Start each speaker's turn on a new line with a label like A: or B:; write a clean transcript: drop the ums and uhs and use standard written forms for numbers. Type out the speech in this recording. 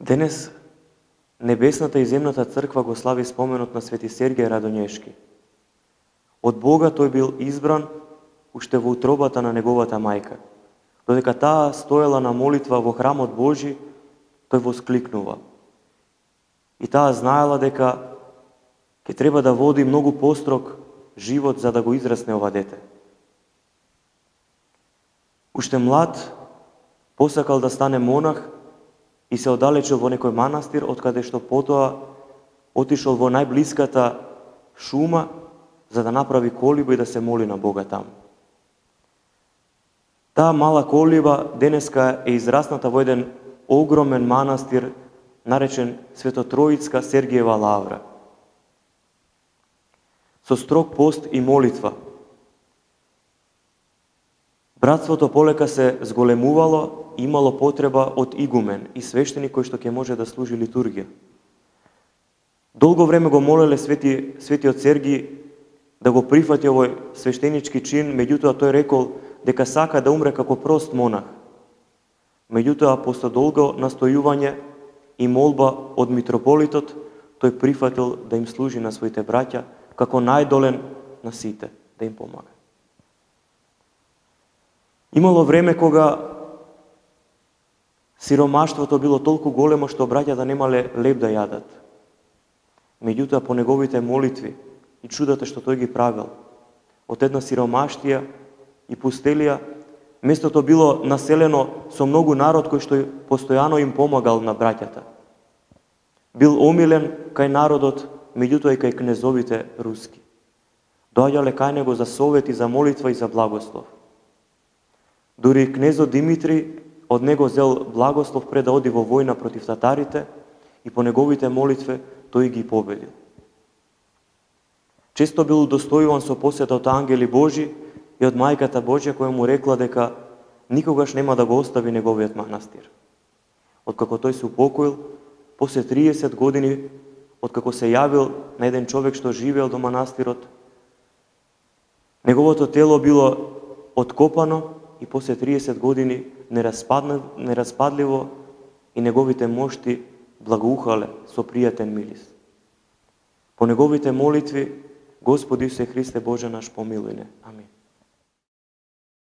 A: Денес небесната и земната црква го слави споменот на Свети Сергиј Радонешки. Од Бога тој бил избран уште во утробата на неговата мајка. Додека таа стоела на молитва во храмот Божи, тој воскликнува. И таа знаела дека ќе треба да води многу построг живот за да го израсне ова дете. Уште млад, посакал да стане монах и се оддалечил во некој манастир, откаде што потоа отишол во најблиската шума за да направи колиба и да се моли на Бога таму. Таа мала колиба денеска е израсната во еден огромен манастир наречен Свето-Троицка Сергиева лавра. Со строг пост и молитва. Братството полека се зголемувало и имало потреба од игумен и свештеник кој што ќе може да служи литургија. Долго време го молеле светиот Сергиј да го прифати овој свештенички чин, меѓутоа тој рекол дека сака да умре како прост монах. Меѓутоа, после долго настојување и молба од митрополитот, тој прифатил да им служи на своите браќа како најдолен на сите, да им помага. Имало време кога сиромаштвото било толку големо што браќата немале леб да јадат. Меѓутоа, по неговите молитви и чудата што тој ги правил, од една сиромаштија и пустелија, местото било населено со многу народ кој што постојано им помагал на браќата. Бил омилен кај народот, меѓутоа и кај кнезовите руски. Доаѓале кај него за совет и за молитва и за благослов. Дури кнезот Димитри од него зел благослов пред да оди во војна против татарите и по неговите молитви тој ги победил. Често бил удостојуван со посета од ангели Божи и од мајката Божја која му рекла дека никогаш нема да го остави неговиот манастир. Откако тој се упокоил, после 30 години, откако се јавил на еден човек што живеел до манастирот, неговото тело било откопано и после 30 години нераспадливо и неговите мошти благоухале со пријатен мирис. По неговите молитви, Господи Исусе Христе Боже наш, помилуј не. Амин.